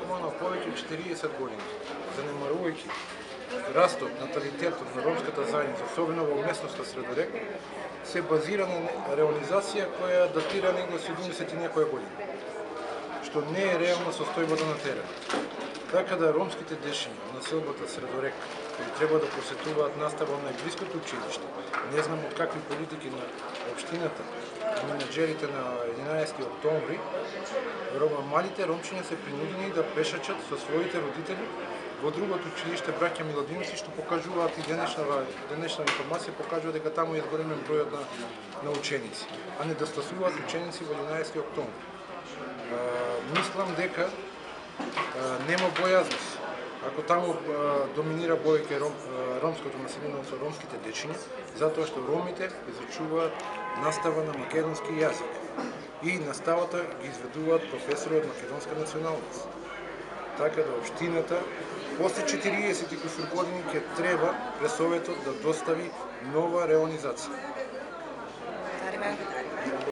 На повеќе од 40 години, занемарувајќи растот наталитетот на ромската заедница, особено во местноста Средорек, се базира на реализација која датира негде 70 и некоја година, што не е реална состојбата на терен. Така да ромските дечиња на селбата Средорек, кои треба да посетуваат настава на најблиското училиште, не знам од какви политики на општината и менаџерите на 11 октомври, малите ромчиња се принудени да пешачат со своите родители во другото училиште Браќа Миладиновци, што покажуваат и денешна информација покажува дека таму е зголемен бројот на ученици, а не да стасуваат ученици во 11 октомври. Мислам дека нема бојазност. Ако таму доминира повеќе ромското население со ромските дечиња, затоа што ромите изучуваат настава на македонски јазик и наставата ги изведуваат професори од македонска националност. Така да општината после 40 и кусур години ќе треба пред Советот да достави нова реализација.